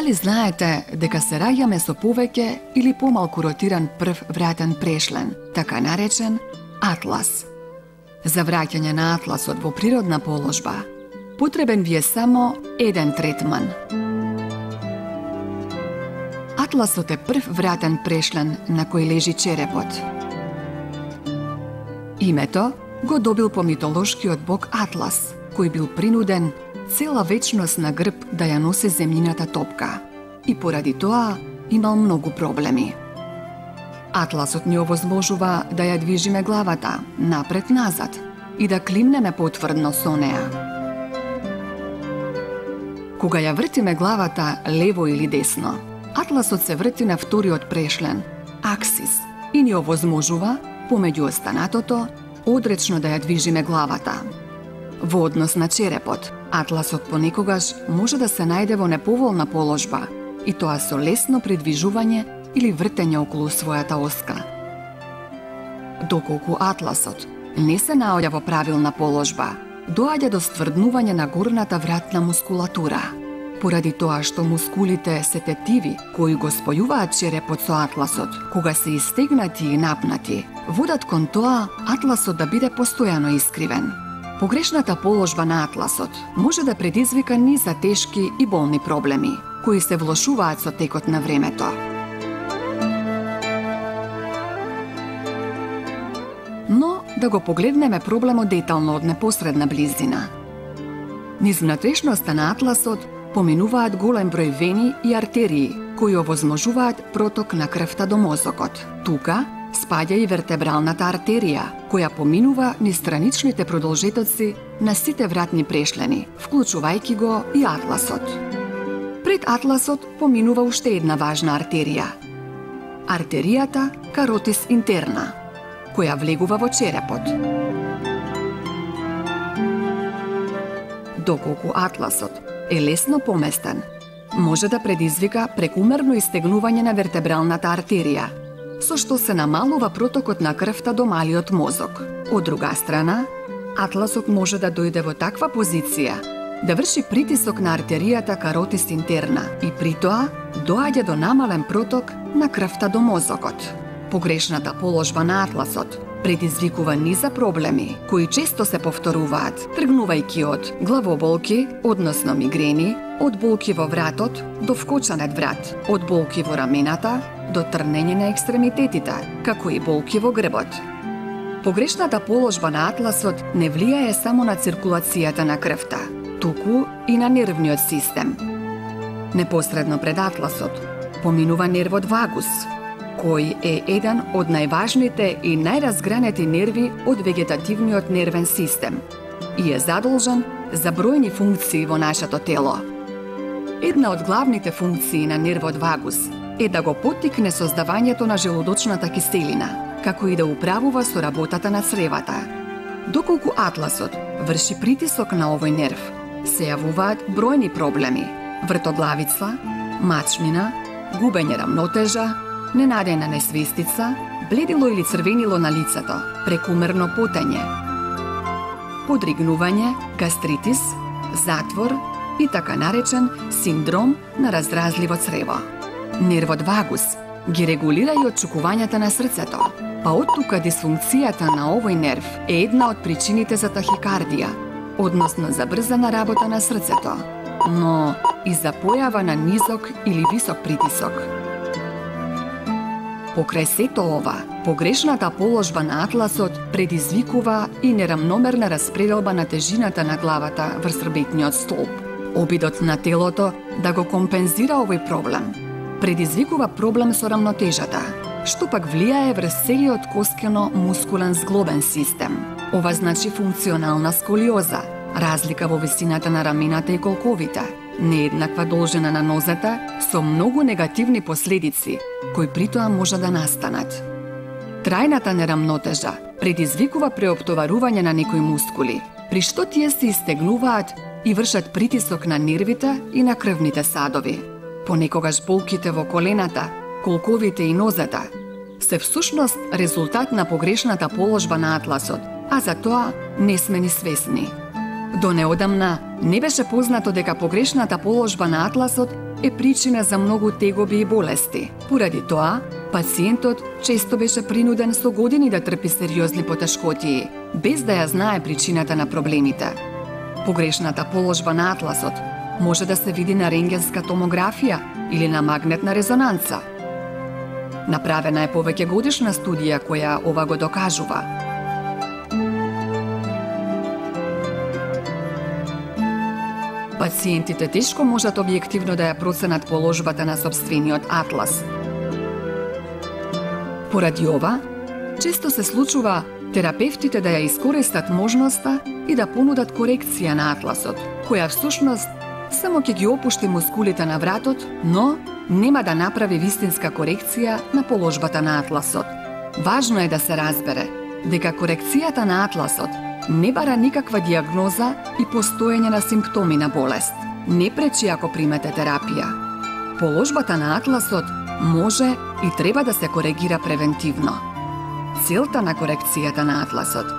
Дали знаете дека се раѓаме со повеќе или помалку ротиран прв вратен прешлен, така наречен атлас? За враќање на атласот во природна положба, потребен ви е само еден третман. Атласот е прв вратен прешлен на кој лежи черепот. Името го добил по митолошкиот бог Атлас, кој бил принуден цела вечност на грб да ја носи земјината топка и поради тоа имал многу проблеми. Атласот ни овозможува да ја движиме главата напред-назад и да климнеме потврдно со неа. Кога ја вртиме главата лево или десно, атласот се врти на вториот прешлен, аксис, и ни овозможува, помеѓу останатото, одречно да ја движиме главата. Во однос на черепот, атласот понекогаш може да се најде во неповолна положба, и тоа со лесно придвижување или вртење околу својата оска. Доколку атласот не се наоѓа во правилна положба, доаѓа до стврднување на горната вратна мускулатура. Поради тоа што мускулите се тетиви кои го спојуваат черепот со атласот, кога се истегнати и напнати, водат кон тоа атласот да биде постојано искривен. Погрешната положба на атласот може да предизвика низ за тешки и болни проблеми, кои се влошуваат со текот на времето. Но да го погледнеме проблемот детално од непосредна близина. Низ внатрешноста на атласот поминуваат голем број вени и артерии, кои овозможуваат проток на крвта до мозокот. Тука спаѓа и вертебралната артерија, која поминува низ страничните продолжетоци на сите вратни прешлени, вклучувајќи го и атласот. Пред атласот поминува уште една важна артерија. Артеријата каротис интерна, која влегува во черепот. Доколку атласот е лесно поместен, може да предизвика прекумерно истегнување на вертебралната артерија, со што се намалува протокот на крвта до малиот мозок. Од друга страна, атласот може да дојде во таква позиција да врши притисок на артеријата каротис интерна и при тоа доаѓа до намален проток на крвта до мозокот. Погрешната положба на атласот предизвикува низа проблеми кои често се повторуваат, тргнувајќи од главоболки, односно мигрени, од болки во вратот до вкочанет врат, од болки во рамената до трнење на екстремитетите, како и болки во грбот. Погрешната положба на атласот не влијае само на циркулацијата на крвта, туку и на нервниот систем. Непосредно пред атласот поминува нервот вагус, кој е еден од најважните и најразгранети нерви од вегетативниот нервен систем и е задолжен за бројни функции во нашето тело. Една од главните функции на нервот вагус е да го поттикне создавањето на желудочната киселина, како и да управува со работата на цревата. Доколку атласот врши притисок на овој нерв, се јавуваат бројни проблеми: вртоглавица, мачнина, губење рамнотежа, ненадејна несвестица, бледило или црвенило на лицето, прекумерно потење, подригнување, гастритис, затвор и така наречен синдром на разразливо црево. Нервот вагус ги регулира и отчукувањата на срцето, па оттука дисфункцијата на овој нерв е една од причините за тахикардија, односно за брзана работа на срцето, но и за појава на низок или висок притисок. Покрај сето ова, погрешната положба на атласот предизвикува и нерамномерна распределба на тежината на главата врз рбетниот столб. Обидот на телото да го компензира овој проблем предизвикува проблем со рамнотежата, што пак влијае врз целиот коскено-мускулен зглобен систем. Ова значи функционална сколиоза, разлика во висината на рамената и колковите, нееднаква должина на нозата со многу негативни последици, кои при тоа може да настанат. Трајната нерамнотежа предизвикува преоптоварување на некои мускули, при што тие се истегнуваат и вршат притисок на нервите и на крвните садови. Понекогаш болките во колената, колковите и нозата се всушност резултат на погрешната положба на атласот, а за тоа не сме ни свесни. До неодамна не беше познато дека погрешната положба на атласот е причина за многу тегоби и болести. Поради тоа, пациентот често беше принуден со години да трпи сериозни потешкотии, без да ја знае причината на проблемите. Погрешната положба на атласот може да се види на рентгенска томографија или на магнетна резонанца. Направена е повеќе годишна студија која ова го докажува. Пациентите тешко можат објективно да ја проценат положбата на сопствениот атлас. Поради ова, често се случува терапевтите да ја искористат можноста и да понудат корекција на атласот, која всушност само ќе ги опушти мускулите на вратот, но нема да направи вистинска корекција на положбата на атласот. Важно е да се разбере дека корекцијата на атласот не бара никаква диагноза и постоење на симптоми на болест. Не пречи ако примете терапија. Положбата на атласот може и треба да се коригира превентивно. Целта на корекцијата на атласот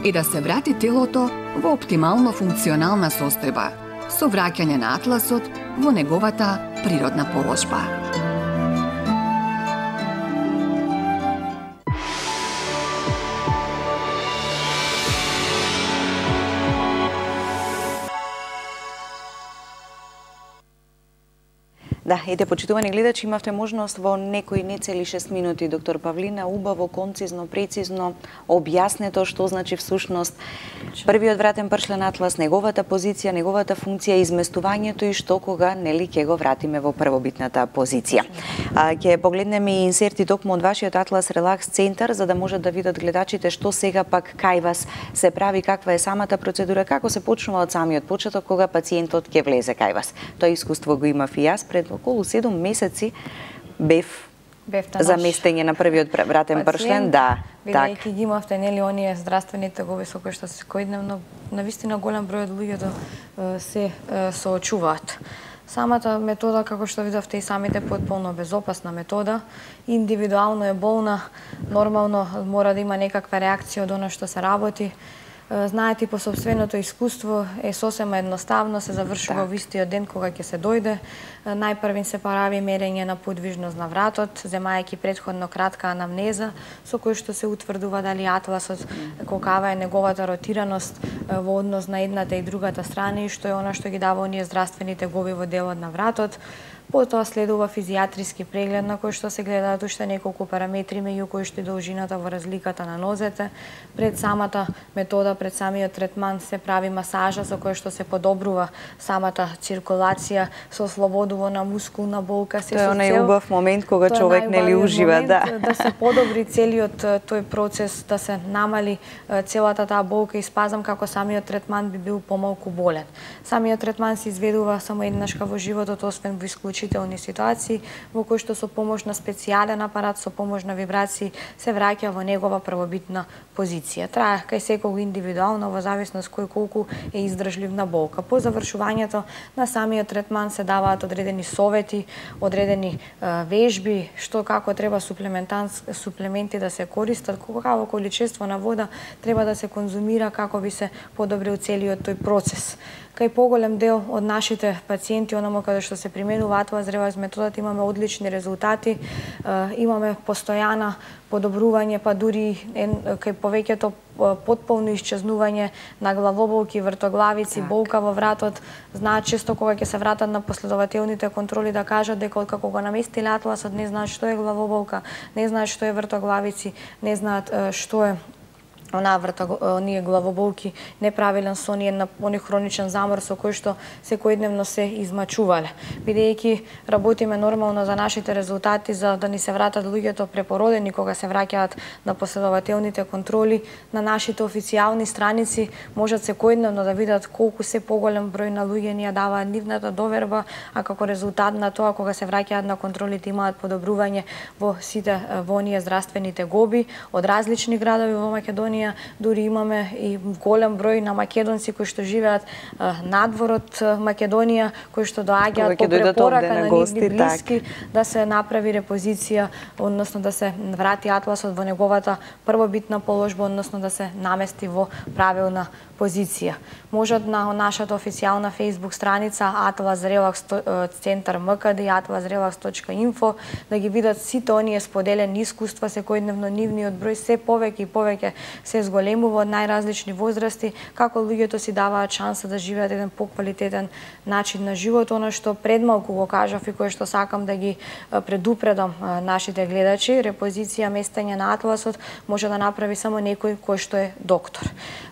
е да се врати телото во оптимално функционална состојба, со враќање на атласот во неговата природна положба. Да, ете, почитувани гледачи, имавте можност во некои нецели 6 минути, доктор Павлина, убаво, концизно, прецизно објаснето што значи всушност првиот вратен пршлен атлас, неговата позиција, неговата функција, изместувањето и што кога нели ќе го вратиме во првобитната позиција. Ќе погледнеме и инсерти токму од вашиот атлас релакс центар за да можат да видат гледачите што сега пак кај вас се прави, каква е самата процедура, како се почнува од самиот почеток кога пациентот ќе влезе кај вас. Тоа искуство го имав и јас пред околу 7 месеци бев заместење на првиот вратен пршлен, да. Бидејќи ги имавте нели оние здравствени тегови со кои што секојдневно навистина голем број од луѓето се соочуваат. Самата метода, како што видовте и самите, потполно безопасна метода, индивидуално е болна, нормално мора да има некаква реакција од она што се работи. Знаете, по собственото искуство е сосема едноставно, се завршува во истиот ден кога ќе се дојде. Најпрвин се прави мерење на подвижност на вратот, земајќи претходно кратка анамнеза, со кој што се утврдува дали атласот, колкава е неговата ротираност во однос на едната и другата страна и што е она што ги дава оние здравствени тегови во делот на вратот. Потоа следува физијатриски преглед на кој што се гледаат уште неколку параметри меѓу кои што и должината во разликата на нозете. Пред самата метода, пред самиот третман се прави масажа со која што се подобрува самата циркулација, со ослободува на мускулна болка, се тоа е онај убав момент кога човек нели ужива, да. Да се подобри целиот тој процес, да се намали целата таа болка и спазам како самиот третман би бил помалку болен. Самиот третман се изведува само еднашка во животот, освен во исклучителни ситуации во кои што со помош на специјален апарат, со помош на вибрации се враќа во негова првобитна позиција. Трае кај секого индивидуално во зависност кој колку е издржлив на болка. По завршувањето на самиот третман се даваат одредени совети, одредени вежби, што како треба суплементи да се користат, какво количество на вода треба да се конзумира како би се подобрил целиот тој процес. Кај поголем дел од нашите пациенти, онамо каде што се применува атлас релакс методата, имаме одлични резултати, имаме постојана подобрување, па дури кај повеќето потполно исчезнување на главоболки, вртоглавици, болка во вратот. Знаат често кога ќе се вратат на последователните контроли да кажат дека откако го наместиле атласот не знаат што е главоболка, не знаат што е вртоглавици, не знаат што е оние главоболки, неправилен сон и оној хроничен замор со кој што секојдневно се измачувале. Бидејќи работиме нормално за нашите резултати, за да ни се вратат луѓето препородени кога се враќаат на последователните контроли, на нашите официјални страници можат секојдневно да видат колку се поголем број на луѓе ни ја даваат нивната доверба, а како резултат на тоа кога се враќаат на контролите имаат подобрување во сите во оние здравствени тегоби од различни градови во Македонија Македонија, дури имаме и голем број на македонци кои што живеат надвор од Македонија, кои што доаѓаат по препорака на нивни блиски, да се направи репозиција, односно да се врати атласот во неговата првобитна положба, односно да се намести во правилна позиција. Можат на нашата официјална Facebook страница Atlas Relax Центар МКД и atlasrelax.info да ги видат сите оние споделени искуства секојдневно, нивниот број се повеќе и повеќе се зголемува од најразлични возрасти, како луѓето си даваат шанса да живеат еден поквалитетен начин на живот. Она што пред малку го кажав и кое што сакам да ги предупредам нашите гледачи, репозиција местење на атласот може да направи само некој кој што е доктор.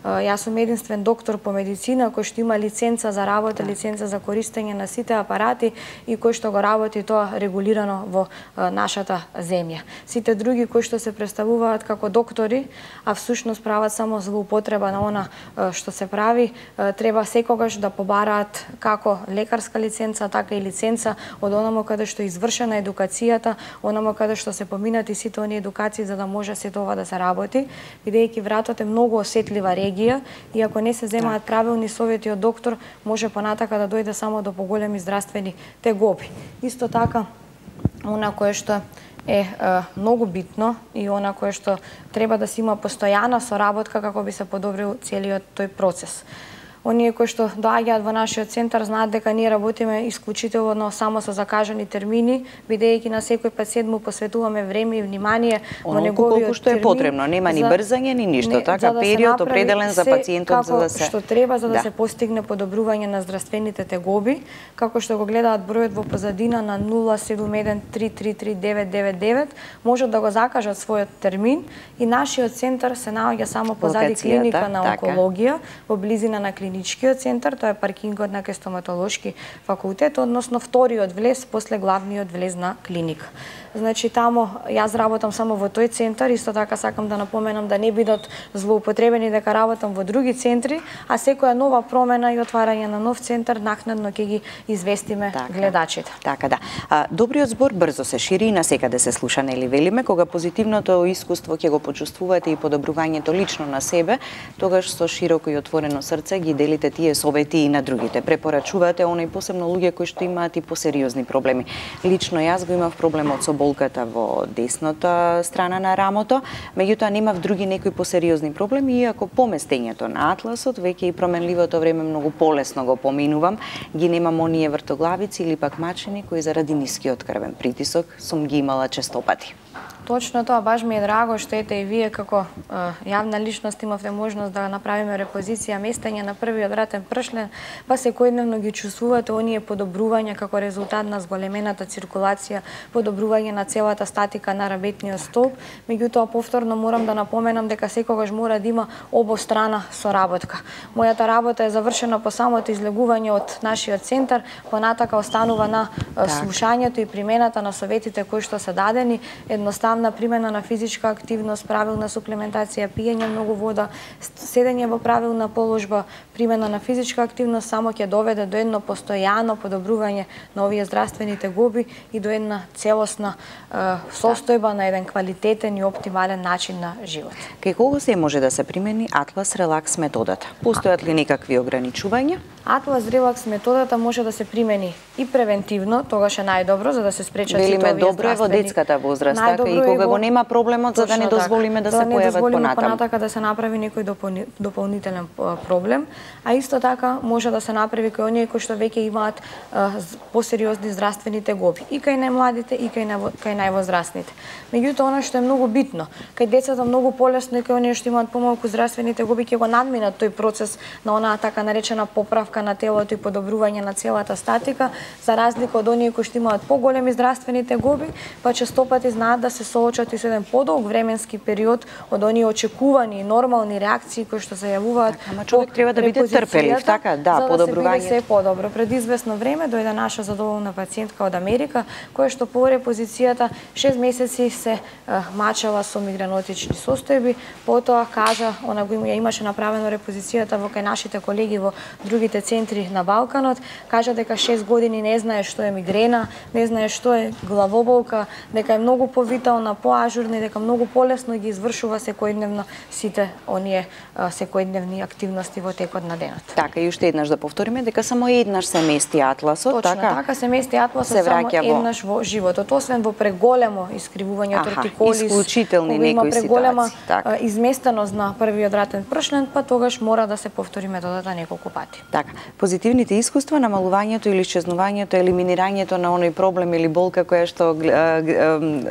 Јас сум единствен доктор по медицина кој што има лиценца за работа, лиценца за користење на сите апарати и кој што го работи тоа регулирано во нашата земја. Сите други кои што се представуваат како доктори, а всушност прават само злоупотреба на она што се прави, треба секогаш да побараат како лекарска лиценца, така и лиценца од онамо каде што е извршена едукацијата, онамо каде што се поминати сите оние едукации за да може сето ова да се работи, бидејќи вратот е многу осетлива регија и ако не се земаат правилни совети од доктор, може понатака да дојде само до поголеми здравствени тегоби. Исто така, она кое што е многу битно и она кое што треба да се има постојана соработка како би се подобрил целиот тој процес. Оние кои што доаѓаат во нашиот центар знаат дека ние работиме исклучително само со закажани термини, бидејќи на секој пациент му посветуваме време и внимание во неговиот колку што е потребно, нема ни брзање ни ништо, така период определен за пациентот за да се што треба за да се постигне подобрување на здравствените тегоби, како што го гледаат бројот во позадина на 071333999, можат да го закажат својот термин и нашиот центар се наоѓа само позади клиника на онкологија, во близина на клиничкиот центар, тоа е паркингот на стоматолошки факултет, односно вториот влез после главниот влез на клиника. Значи таму јас работам само во тој центар, исто така сакам да напоменам да не бидат злоупотребени дека работам во други центри, а секоја нова промена и отварање на нов центар накнадно ќе ги известиме гледачите. Така да. Добриот збор брзо се шири и насекаде се слуша, нели велиме, кога позитивното искуство ќе го почувствувате и подобрувањето лично на себе, тогаш со широко и отворено срце ги делите тие совети и на другите. Препорачувате оној посебно луѓе кои што имаат и посериозни проблеми. Лично јас го имав проблемот со болката во десната страна на рамото, меѓутоа немав други некои посериозни проблеми, иако поместењето на атласот веќе и променливото време многу полесно го поминувам, ги немам оние вртоглавици или пак мачени кои заради нискиот крвен притисок сум ги имала честопати. Точно тоа, баш ми е драго што ете и вие како јавна личност имавте можност да направиме репозиција местење на првиот вратен пршлен, па секојдневно ги чувствувате оние подобрувања како резултат на зголемената циркулација, подобрување на целата статика на работниот столб. Меѓутоа повторно морам да напоменам дека секогаш мора да има обострана соработка. Мојата работа е завршена по самото излегување од нашиот центар, понатака останува на слушањето и примената на советите кои што се дадени, едноставно примена на физичка активност, правилна суплементација, пиење многу вода, седење во правилна положба, примена на физичка активност само ќе доведе до едно постојано подобрување на овие здравствени тегоби и до една целосна состојба на еден квалитетен и оптимален начин на живот. Кај кого се може да се примени Atlas Relax методата? Постојат ли некакви ограничувања? Atlas Relax методата може да се примени и превентивно, тогаш е најдобро за да се спречат сите овие добро е во детската возраст, така и кога го нема проблемот за да не дозволиме да се појават понатака да се направи некој дополнителен проблем, а исто така може да се направи кај оние кои што веќе имаат посериозни здравствени тегоби и кај најмладите и кај највозрастните. Меѓутоа она што е многу битно, кај децата многу полесно и кај оние што имаат помалку здравствени тегоби ќе го надминат тој процес на онаа така наречена поправка на телото и подобрување на целата статика, за разлика од оние кои што имаат поголеми здравствени тегоби, па честопати знаат да се соочат и со еден подолг временски период од оние очекувани нормални реакции кои што се јавуваат. Ама човек треба да биде трпелив, така, да, подобрување. За да се биде се подобро. Пред известно време дојде наша задоволна пациентка од Америка, која што по репозицијата 6 месеци се мачела со мигренотични состојби, потоа кажа, она го имаше направено репозицијата во кај нашите колеги во другите центри на Балканот, кажа дека 6 години не знае што е мигрена, не знае што е главоболка, дека е многу повитална поактуелна, поажурна и дека многу полесно ги извршува секојдневно сите оние секојдневни активности во текот на денот. Така, и уште еднаш да повториме дека само еднаш се мести атласот, Точно, така се мести атласот само еднаш во животот, освен во преголемо искривување од ротиколис, исклучителни некои ситуации, изместеност на првиот вратен пршлен, па тогаш мора да се повтори методата неколку пати. Така, позитивните искуства, намалувањето или исчезнувањето, елиминирањето на оној проблем или болка која што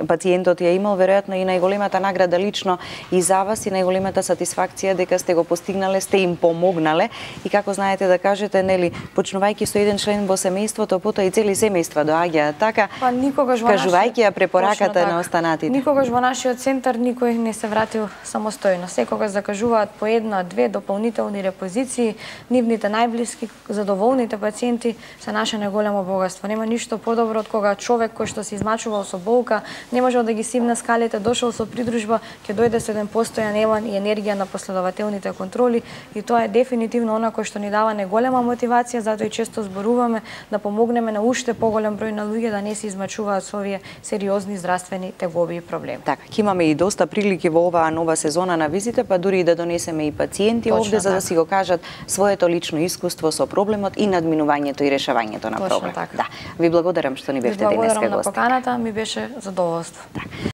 пациентот ја имал, веројатно и најголемата награда лично и за вас и најголемата сатисфакција дека сте го постигнале, сте им помогнале и како знаете да кажете, нели, почнувајќи со еден член во семејството, потоа и цели семејства доаѓаат, така, па никогаш во кажувајќи ја препораката на останатите. Никогаш во нашиот центар никој не се вратил самостојно. Секогаш закажуваат по една, две дополнителни репозиции. Нивните најблиски, задоволните пациенти се наше најголемо богатство. Нема ништо подобро од кога човек кој што се измачувал со болка, не можел да ги симне скалите, дошол со придружба, ќе дојде со еден постојан елан и енергија на последователните контроли и тоа е дефинитивно она кој што ни дава неголема мотивација, затоа и често зборуваме да помогнеме на уште поголем број на луѓе да не се измачуваат со овие сериозни здравствени тегоби и проблеми. Така, ќе имаме и доста прилики во оваа нова сезона на визите, па дури и да донесеме и пациенти овде за да си го кажат своето лично искуство со проблемот и надминувањето и решавањето на проблем. Така. Да. Ви благодарам што ни бевте денеска гости. Благодарам на поканата, ми беше задоволство. Так.